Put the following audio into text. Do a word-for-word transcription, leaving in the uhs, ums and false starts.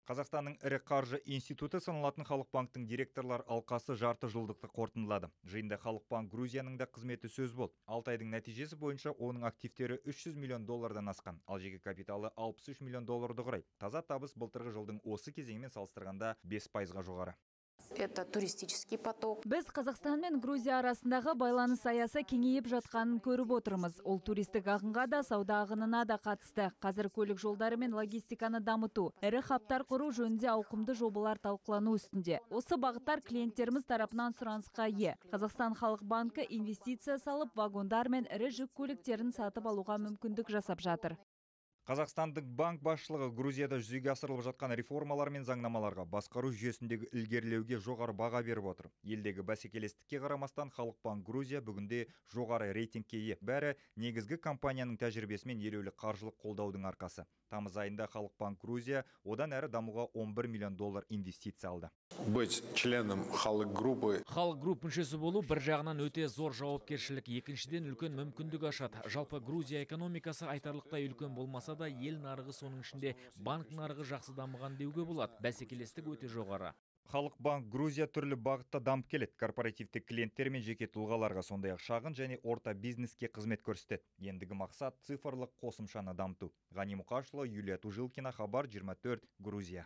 Қазақстанның ірі қаржы институты саналатын Халық банктің директорлар алқасы жарты жылдықты қорытындылады. Жиында Халық банк Грузияның да қызметі сөз болды. алты айдың нәтижесі бойынша оның активтері үш жүз миллион доллардан асқан, ал жеке капиталы алпыс үш миллион долларды құрайды. Таза табыс былтырғы жылдың осы кезеңімен салыстырғанда бес пайызға жоғары. Это туристический поток. Біз Қазақстан мен Грузия арасындағы байланыс аясы кеңейіп жатқанын көріп отырмыз. Ол туристік ағынға да, сауда ағынына да қатысты. Қазір көлік жолдары мен логистиканы дамыту, ірі хабтар құру жөнінде ауқымды жобалар талқылану үстінде. Осы бағыттар клиенттеріміз тарапынан сұранысқа ие. Қазақстан Халық банкі инвестиция салып, вагондар мен ірі жүк көліктерін сатып алуға мүмкіндік жасап жатыр. Қазақстандық банк басшылығы Грузияда жүзеге асырылып жатқан реформалар мен заңнамаларға басқару жүйесіндегі ілгерілеуге жоғары баға беріп отыр. Елдегі бәсекелестікке қарамастан Халық банк Грузия бүгінде жоғары рейтингке ие. Бәрі негізгі компанияның тәжірибесімен елеулі қаржылық қолдаудың арқасы. Тамыз айында Халық банк Грузия одан әрі дамуға он бір миллион доллар инвестиция алды. Быть членом халық группы. Халық групп мүшесі болу бір жағынан өте зор жауапкершілік, екіншіден үлкен мүмкіндік ашады. Жалпы Грузия экономикасы айтарлықтай үлкен болмаса да, ел нарығы соның ішінде банк нарығы жақсы дамыған деуге болады. Бәсекелестік өте жоғары. Халық банк Грузия түрлі бағытта дамып келеді. Корпоративті клиенттер мен жеке тұлғаларға, сондай-ақ шағын және орта бизнеске қызмет көрсетеді. Ендігі мақсат цифрлық қосымшаны дамыту. Ғани Мұқашұлы, Юлия Тужилкина, Хабар жиырма төрт, Грузия.